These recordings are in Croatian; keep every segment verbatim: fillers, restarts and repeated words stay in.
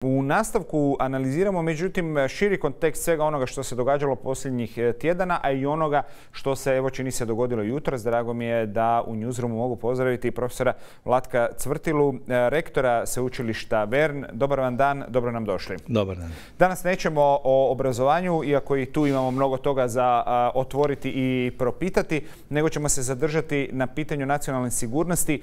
U nastavku analiziramo, međutim, širi kontekst svega onoga što se događalo posljednjih tjedana, a i onoga što se, evo, čini se dogodilo jutros. Drago mi je da u Newsroomu mogu pozdraviti profesora Vlatka Cvrtilu, rektora Sveučilišta Vern. Dobar vam dan, dobro nam došli. Dobar dan. Danas nećemo o obrazovanju, iako i tu imamo mnogo toga za a, otvoriti i propitati, nego ćemo se zadržati na pitanju nacionalne sigurnosti.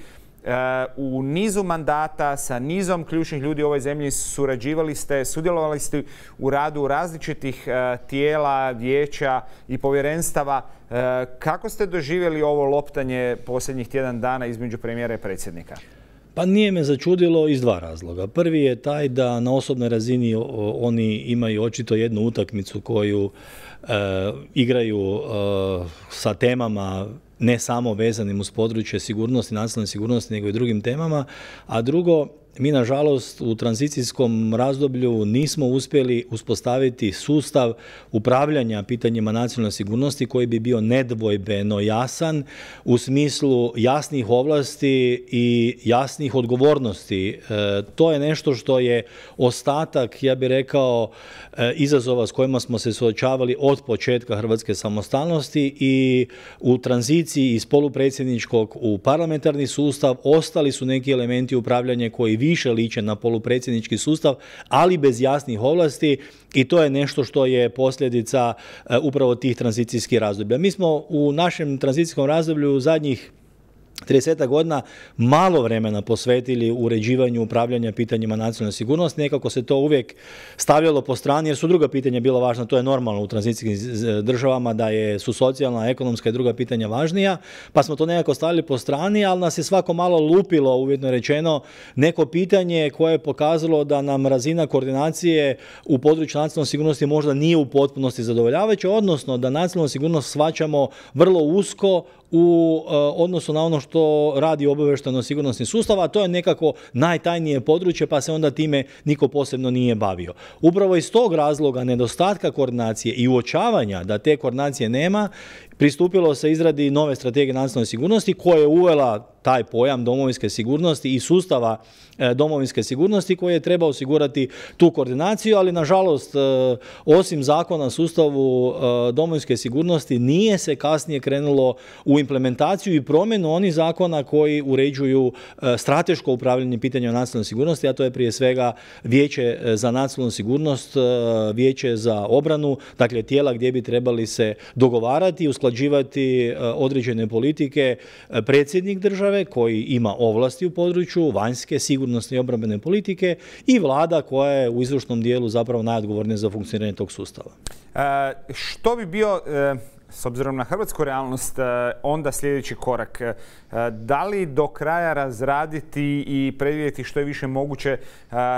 U nizu mandata sa nizom ključnih ljudi u ovoj zemlji surađivali ste, sudjelovali ste u radu različitih tijela, vijeća i povjerenstava. Kako ste doživjeli ovo loptanje posljednjih tjedan dana između premijera i predsjednika? Pa nije me začudilo iz dva razloga. Prvi je taj da na osobnoj razini oni imaju očito jednu utakmicu koju e, igraju e, sa temama ne samo vezanim uz područje sigurnosti, nacionalne sigurnosti, nego i drugim temama. A drugo, mi nažalost u tranzicijskom razdoblju nismo uspjeli uspostaviti sustav upravljanja pitanjima nacionalne sigurnosti koji bi bio nedvojbeno jasan u smislu jasnih ovlasti i jasnih odgovornosti. E, to je nešto što je ostatak, ja bih rekao, e, izazova s kojima smo se suočavali od početka hrvatske samostalnosti i u tranziciji iz polupredsjedničkog u parlamentarni sustav ostali su neki elementi upravljanja koji više liče na polupredsjednički sustav, ali bez jasnih ovlasti, i to je nešto što je posljedica uh, upravo tih tranzicijskih razdoblja. Mi smo u našem tranzicijskom razdoblju u zadnjih trideset godina malo vremena posvetili uređivanju upravljanja pitanjima nacionalne sigurnosti. Nekako se to uvijek stavljalo po strani jer su druga pitanja bila važna. To je normalno u tranzicijskim državama da je, su socijalna, ekonomska i druga pitanja važnija, pa smo to nekako stavili po strani, ali nas je svako malo lupilo, uvjetno rečeno, neko pitanje koje je pokazalo da nam razina koordinacije u području nacionalne sigurnosti možda nije u potpunosti zadovoljavajuća, odnosno da nacionalnu sigurnost shvaćamo vrlo usko u uh, odnosu na ono što radi obavještajno-sigurnosni sustav, a to je nekako najtajnije područje, pa se onda time niko posebno nije bavio. Upravo iz tog razloga nedostatka koordinacije i uočavanja da te koordinacije nema, pristupilo se izradi nove strategije nacionalne sigurnosti koja je uvela taj pojam domovinske sigurnosti i sustava e, domovinske sigurnosti koji je trebao osigurati tu koordinaciju, ali nažalost e, osim zakona o sustavu e, domovinske sigurnosti nije se kasnije krenulo u implementaciju i promjenu onih zakona koji uređuju e, strateško upravljanje pitanjima nacionalne sigurnosti, a to je prije svega Vijeće za nacionalnu sigurnost, e, Vijeće za obranu, dakle tijela gdje bi trebali se dogovarati i usklađivati e, određene politike e, predsjednik države koji ima ovlasti u području vanjske, sigurnosne i obrambene politike i vlada koja je u izvršnom dijelu zapravo najodgovornija za funkcioniranje tog sustava. E, što bi bio, e, s obzirom na hrvatsku realnost, e, onda sljedeći korak? E, da li do kraja razraditi i predvidjeti što je više moguće e,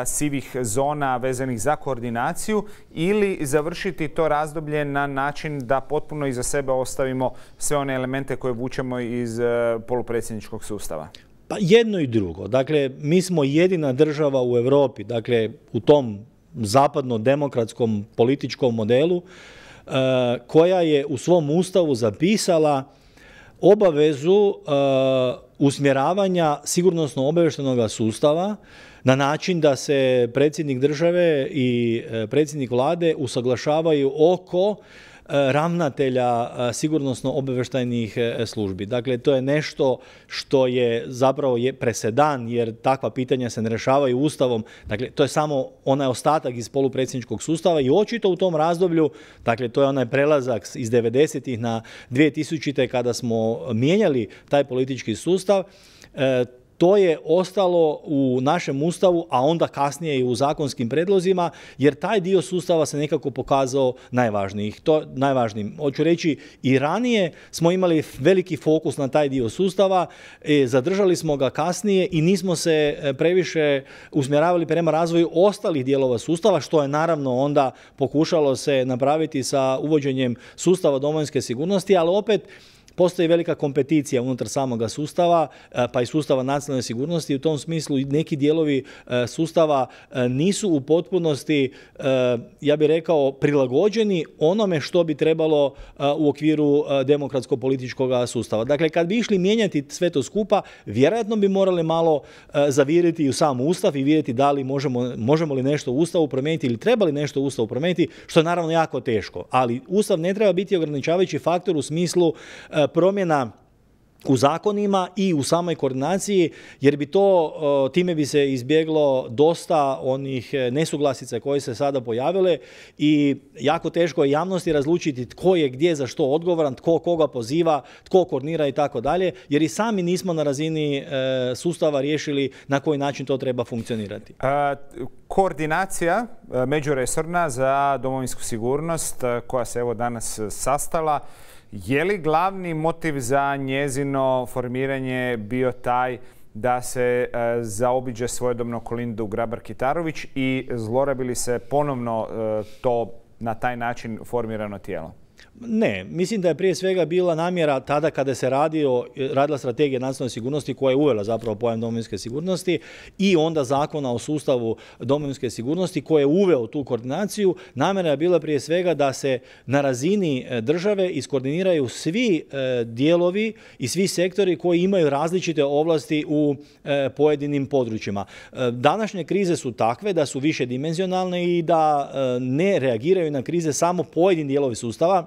sivih zona vezanih za koordinaciju ili završiti to razdoblje na način da potpuno iza sebe ostavimo sve one elemente koje vučemo iz e, polupredsjedničkog sustava? Pa jedno i drugo. Dakle, mi smo jedina država u Europi, dakle u tom zapadno-demokratskom političkom modelu koja je u svom ustavu zapisala obavezu usmjeravanja sigurnosno-obavještajnog sustava na način da se predsjednik države i predsjednik vlade usaglašavaju oko ravnatelja sigurnosno-obavještajnih službi. Dakle, to je nešto što je zapravo je presedan, jer takva pitanja se ne rješavaju ustavom. Dakle, to je samo onaj ostatak iz polupredsjedničkog sustava i očito u tom razdoblju, dakle, to je onaj prelazak iz devedesetih na dvije tisućite kada smo mijenjali taj politički sustav, to je ostalo u našem ustavu, a onda kasnije i u zakonskim predlozima, jer taj dio sustava se nekako pokazao najvažnijim. To najvažnijim. Hoću reći, i ranije smo imali veliki fokus na taj dio sustava, e, zadržali smo ga kasnije i nismo se previše usmjeravali prema razvoju ostalih dijelova sustava, što je naravno onda pokušalo se napraviti sa uvođenjem sustava domovinske sigurnosti, ali opet postoji velika kompeticija unutar samoga sustava, pa i sustava nacionalne sigurnosti. U tom smislu neki dijelovi sustava nisu u potpunosti, ja bih rekao, prilagođeni onome što bi trebalo u okviru demokratsko-političkog sustava. Dakle, kad bi išli mijenjati sve to skupa, vjerojatno bi morali malo zaviriti i u sam Ustav i vidjeti da li možemo, možemo li nešto u Ustavu promijeniti ili treba li nešto u Ustavu promijeniti, što je naravno jako teško. Ali Ustav ne treba biti ograničavajući faktor u smislu promjena u zakonima i u samoj koordinaciji, jer bi to, time bi se izbjeglo dosta onih nesuglasica koje se sada pojavile i jako teško je javnosti razlučiti tko je gdje za što odgovoran, tko koga poziva, tko koordinira i tako dalje, jer i sami nismo na razini sustava riješili na koji način to treba funkcionirati. A, koordinacija međuresorna za domovinsku sigurnost koja se evo danas sastala, je li glavni motiv za njezino formiranje bio taj da se e, zaobiđe svojedobno Kolindu Grabar-Kitarović i zlorabi li se ponovno e, to na taj način formirano tijelo? Ne, mislim da je prije svega bila namjera tada kada se radio, radila strategija nacionalne sigurnosti koja je uvela zapravo pojam domovinske sigurnosti i onda zakona o sustavu domovinske sigurnosti koji je uveo tu koordinaciju. Namjera je bila prije svega da se na razini države iskoordiniraju svi dijelovi i svi sektori koji imaju različite ovlasti u pojedinim područjima. Današnje krize su takve da su više dimenzionalne i da ne reagiraju na krize samo pojedini dijelovi sustava,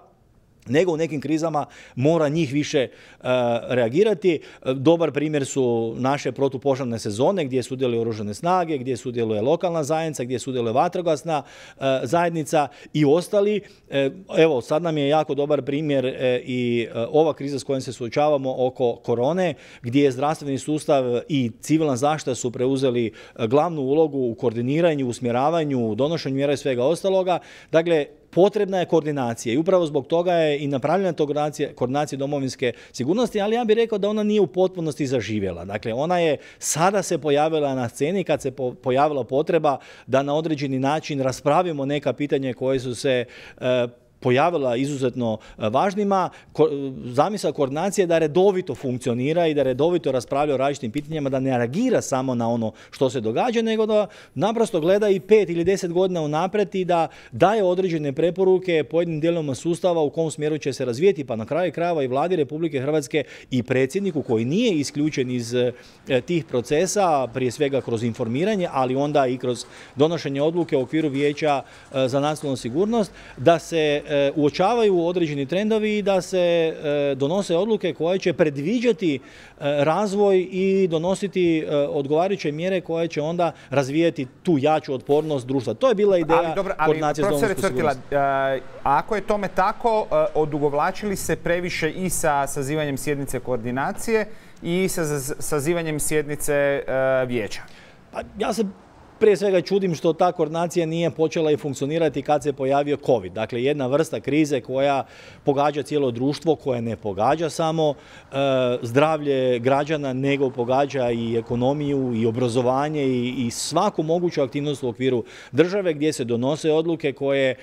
nego u nekim krizama mora njih više uh, reagirati. Dobar primjer su naše protupožarne sezone gdje sudjeluju oružane snage, gdje sudjeluje lokalna zajednica, gdje sudjeluje vatrogasna uh, zajednica i ostali. Uh, evo, sad nam je jako dobar primjer uh, i uh, ova kriza s kojom se suočavamo oko korone, gdje je zdravstveni sustav i civilna zaštita su preuzeli uh, glavnu ulogu u koordiniranju, usmjeravanju, donošenju mjera i svega ostaloga. Dakle, potrebna je koordinacija i upravo zbog toga je i napravljena koordinacija, koordinacija domovinske sigurnosti, ali ja bih rekao da ona nije u potpunosti zaživjela. Dakle, ona je sada se pojavila na sceni kad se po, pojavila potreba da na određeni način raspravimo neka pitanja koje su se e, pojavila izuzetno važnima. Zamisao koordinacije da redovito funkcionira i da redovito raspravlja o različitim pitanjima, da ne reagira samo na ono što se događa, nego da naprosto gleda i pet ili deset godina unaprijed i da daje određene preporuke pojedinim dijelovima sustava u kom smjeru će se razvijeti, pa na kraju krajeva i Vladi Republike Hrvatske i predsjedniku koji nije isključen iz tih procesa, prije svega kroz informiranje, ali onda i kroz donošenje odluke u okviru Vijeća za nacionalnu sigurnost, da se uočavaju određeni trendovi i da se donose odluke koje će predviđati razvoj i donositi odgovarajuće mjere koje će onda razvijati tu jaču otpornost društva. To je bila ideja ali, dobro, ali, koordinacije s domovinskom sigurnosti. Ako je tome tako, odugovlačili se previše i sa sazivanjem sjednice koordinacije i sa sazivanjem sjednice vijeća? Pa, ja se prije svega čudim što ta koordinacija nije počela i funkcionirati kad se pojavio COVID. Dakle, jedna vrsta krize koja pogađa cijelo društvo, koja ne pogađa samo e, zdravlje građana, nego pogađa i ekonomiju, i obrazovanje, i, i svaku moguću aktivnost u okviru države gdje se donose odluke koje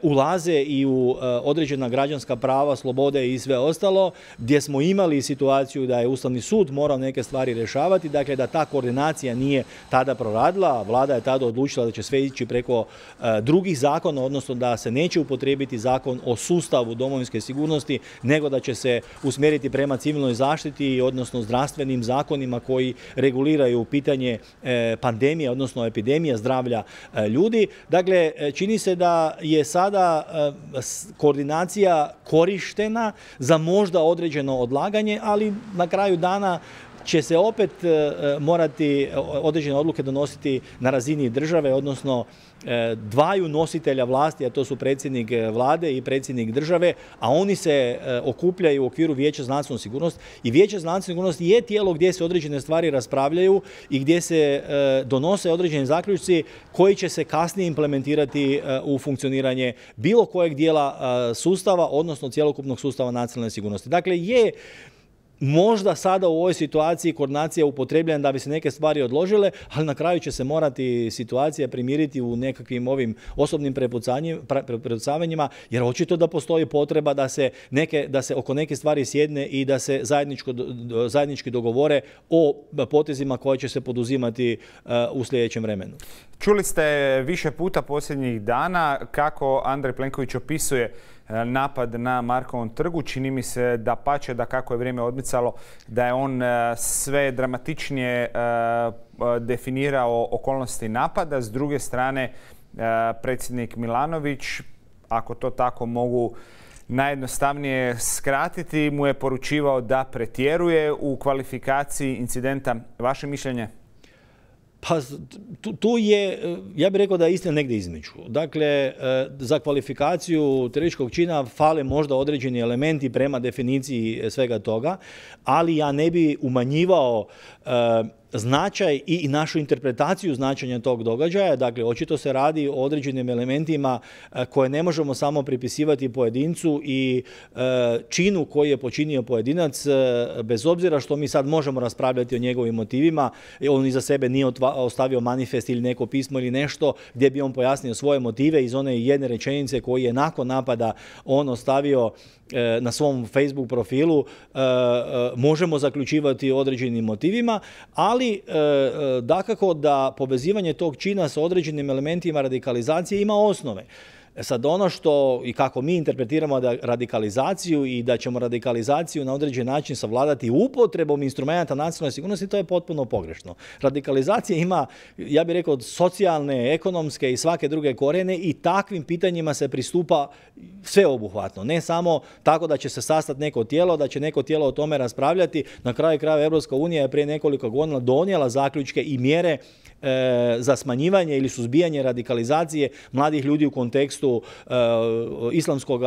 ulaze i u određena građanska prava, slobode i sve ostalo, gdje smo imali situaciju da je Ustavni sud morao neke stvari rješavati, dakle da ta koordinacija nije tada proradila, vlada je tada odlučila da će sve ići preko drugih zakona, odnosno da se neće upotrijebiti zakon o sustavu domovinske sigurnosti, nego da će se usmjeriti prema civilnoj zaštiti, odnosno zdravstvenim zakonima koji reguliraju pitanje pandemije, odnosno epidemije zdravlja ljudi. Dakle, čini se da je sada koordinacija korištena za možda određeno odlaganje, ali na kraju dana će se opet morati određene odluke donositi na razini države, odnosno dvaju nositelja vlasti, a to su predsjednik vlade i predsjednik države, a oni se okupljaju u okviru Vijeća za nacionalnu sigurnost i Vijeće za nacionalnu sigurnost je tijelo gdje se određene stvari raspravljaju i gdje se donose određeni zaključci koji će se kasnije implementirati u funkcioniranje bilo kojeg dijela sustava, odnosno cjelokupnog sustava nacionalne sigurnosti. Dakle, je možda sada u ovoj situaciji koordinacija upotrebljena da bi se neke stvari odložile, ali na kraju će se morati situacija primiriti u nekakvim ovim osobnim prepucavanjima, jer očito da postoji potreba da se, neke, da se oko neke stvari sjedne i da se zajednički dogovore o potezima koje će se poduzimati u sljedećem vremenu. Čuli ste više puta posljednjih dana kako Andrej Plenković opisuje napad na Markovom trgu. Čini mi se da pače da kako je vrijeme odmicalo da je on sve dramatičnije definirao okolnosti napada. S druge strane, predsjednik Milanović, ako to tako mogu najjednostavnije skratiti, mu je poručivao da pretjeruje u kvalifikaciji incidenta. Vaše mišljenje? Pa tu je, ja bih rekao da je istina negdje između. Dakle, za kvalifikaciju terorističkog čina fale možda određeni elementi prema definiciji svega toga, ali ja ne bi umanjivao značaj i našu interpretaciju značenja tog događaja. Dakle, očito se radi o određenim elementima koje ne možemo samo pripisivati pojedincu i činu koji je počinio pojedinac, bez obzira što mi sad možemo raspravljati o njegovim motivima. On iza sebe nije ostavio manifest ili neko pismo ili nešto gdje bi on pojasnio svoje motive iz one jedne rečenice koji je nakon napada on ostavio na svom Facebook profilu. Možemo zaključivati određenim motivima, ali dakako da povezivanje tog čina sa određenim elementima radikalizacije ima osnove. Sad ono što i kako mi interpretiramo da radikalizaciju i da ćemo radikalizaciju na određen način savladati upotrebom instrumenta nacionalne sigurnosti, to je potpuno pogrešno. Radikalizacija ima, ja bih rekao, socijalne, ekonomske i svake druge korijene i takvim pitanjima se pristupa sveobuhvatno. Ne samo tako da će se sastati neko tijelo, da će neko tijelo o tome raspravljati. Na kraju krajeva Europska unija je prije nekoliko godina donijela zaključke i mjere za smanjivanje ili suzbijanje radikalizacije mladih ljudi u kontekstu islamskog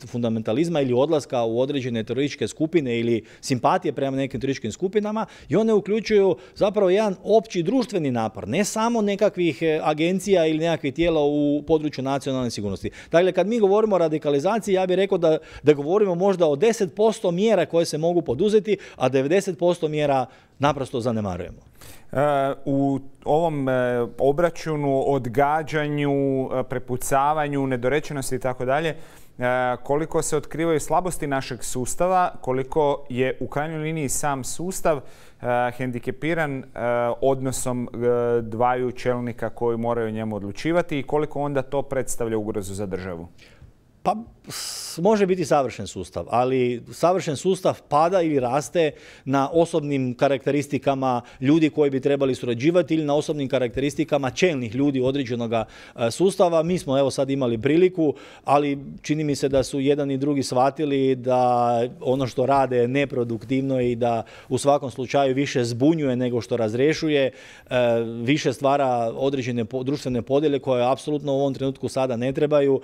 fundamentalizma ili odlaska u određene terorističke skupine ili simpatije prema nekim terorističkim skupinama, i one uključuju zapravo jedan opći društveni napor, ne samo nekakvih agencija ili nekakvih tijela u području nacionalne sigurnosti. Dakle, kad mi govorimo o radikalizaciji, ja bih rekao da, da govorimo možda o deset posto mjera koje se mogu poduzeti, a devedeset posto mjera naprosto zanemarujemo. U ovom obračunu, odgađanju, prepucavanju, nedorečenosti i tako dalje, koliko se otkrivaju slabosti našeg sustava, koliko je u krajnjoj liniji sam sustav hendikepiran odnosom dvaju čelnika koji moraju o njemu odlučivati i koliko onda to predstavlja ugrozu za državu? Pa može biti savršen sustav, ali savršen sustav pada ili raste na osobnim karakteristikama ljudi koji bi trebali surađivati ili na osobnim karakteristikama čelnih ljudi određenog sustava. Mi smo evo sad imali priliku, ali čini mi se da su jedan i drugi shvatili da ono što rade je neproduktivno i da u svakom slučaju više zbunjuje nego što razrješuje, više stvara određene društvene podjele koje apsolutno u ovom trenutku sada ne trebaju.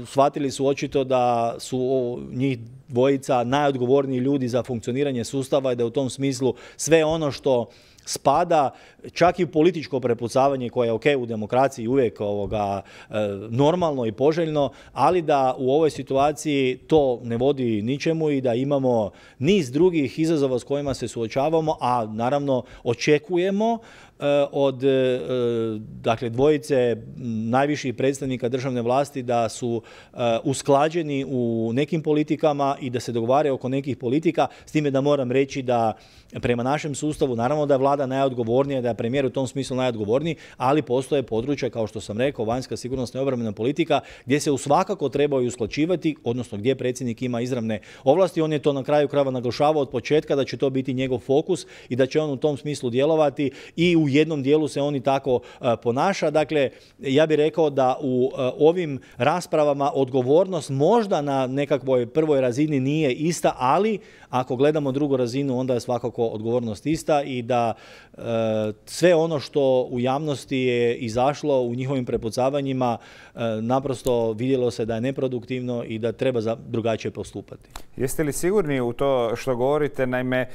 Shvatili su očito da su njih dvojica najodgovorniji ljudi za funkcioniranje sustava i da u tom smislu sve ono što spada, čak i političko prepucavanje koje je ok u demokraciji uvijek ovoga, normalno i poželjno, ali da u ovoj situaciji to ne vodi ničemu i da imamo niz drugih izazova s kojima se suočavamo, a naravno očekujemo od dakle, dvojice najviših predstavnika državne vlasti da su usklađeni u nekim politikama i da se dogovaraju oko nekih politika, s time da moram reći da prema našem sustavu, naravno da je vlada najodgovornija, da je premijer u tom smislu najodgovorniji, ali postoje područja, kao što sam rekao, vanjska sigurnosna i obrambena politika, gdje se svakako trebaju usklađivati, odnosno gdje predsjednik ima izravne ovlasti. On je to na kraju krajeva naglašavao od početka da će to biti njegov fokus i da će on u tom smislu djelovati i u jednom dijelu se on i tako uh, ponaša. Dakle, ja bih rekao da u uh, ovim raspravama odgovornost možda na nekakvoj prvoj razini nije ista, ali ako gledamo drugu razinu, onda je svakako odgovornost ista i da uh, sve ono što u javnosti je izašlo u njihovim prepucavanjima uh, naprosto vidjelo se da je neproduktivno i da treba za drugačije postupati. Jeste li sigurni u to što govorite? Naime,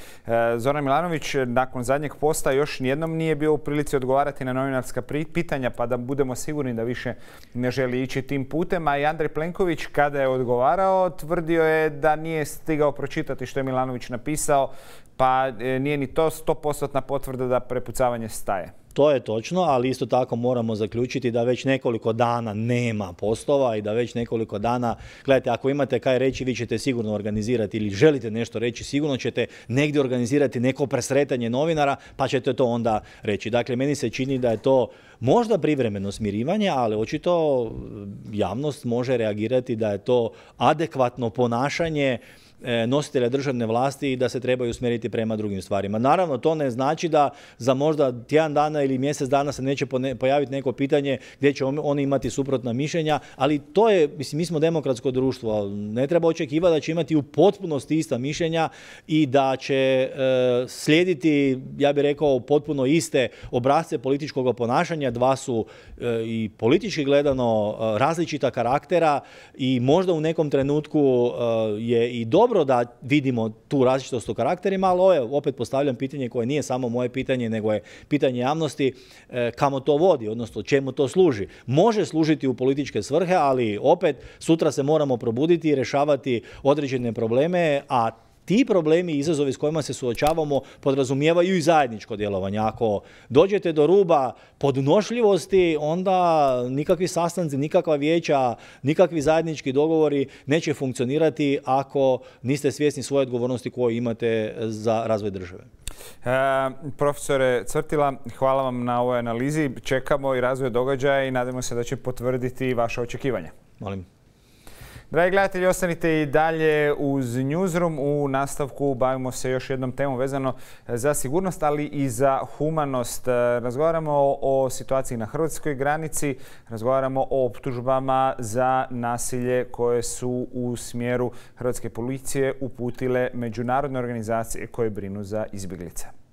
Zoran Milanović nakon zadnjeg posta još nijednom nije bio bio u prilici odgovarati na novinarska pitanja pa da budemo sigurni da više ne želi ići tim putem. A i Andrej Plenković kada je odgovarao tvrdio je da nije stigao pročitati što je Milanović napisao, pa nije ni to sto posto potvrda da prepucavanje staje. To je točno, ali isto tako moramo zaključiti da već nekoliko dana nema postova i da već nekoliko dana, gledajte, ako imate kaj reći, vi ćete sigurno organizirati ili želite nešto reći, sigurno ćete negdje organizirati neko presretanje novinara, pa ćete to onda reći. Dakle, meni se čini da je to možda privremeno smirivanje, ali očito javnost može reagirati da je to adekvatno ponašanje nositelja državne vlasti i da se trebaju usmjeriti prema drugim stvarima. Naravno, to ne znači da za možda tjedan dana ili mjesec dana se neće pojaviti neko pitanje gdje će oni imati suprotna mišljenja, ali to je, mislim, mi smo demokratsko društvo, ne treba očekivati da će imati u potpunosti ista mišljenja i da će e, slijediti, ja bih rekao, potpuno iste obrasce političkog ponašanja. Dva su e, i politički gledano e, različita karaktera i možda u nekom trenutku e, je i dobro da vidimo tu različitost u karakterima, ali ovo je, opet postavljam pitanje koje nije samo moje pitanje, nego je pitanje javnosti, e, kamo to vodi, odnosno čemu to služi. Može služiti u političke svrhe, ali opet sutra se moramo probuditi i rješavati određene probleme, a ti problemi i izazovi s kojima se suočavamo podrazumijevaju i zajedničko djelovanje. Ako dođete do ruba podnošljivosti, onda nikakvi sastanci, nikakva vijeća, nikakvi zajednički dogovori neće funkcionirati ako niste svjesni svoje odgovornosti koju imate za razvoj države. E, profesore Cvrtila, hvala vam na ovoj analizi. Čekamo i razvoj događaja i nadamo se da će potvrditi vaše očekivanja. Molim. Dragi gledatelji, ostanite i dalje uz Newsroom. U nastavku bavimo se još jednom temom vezano za sigurnost, ali i za humanost. Razgovaramo o situaciji na hrvatskoj granici, razgovaramo o optužbama za nasilje koje su u smjeru hrvatske policije uputile međunarodne organizacije koje brinu za izbjeglice.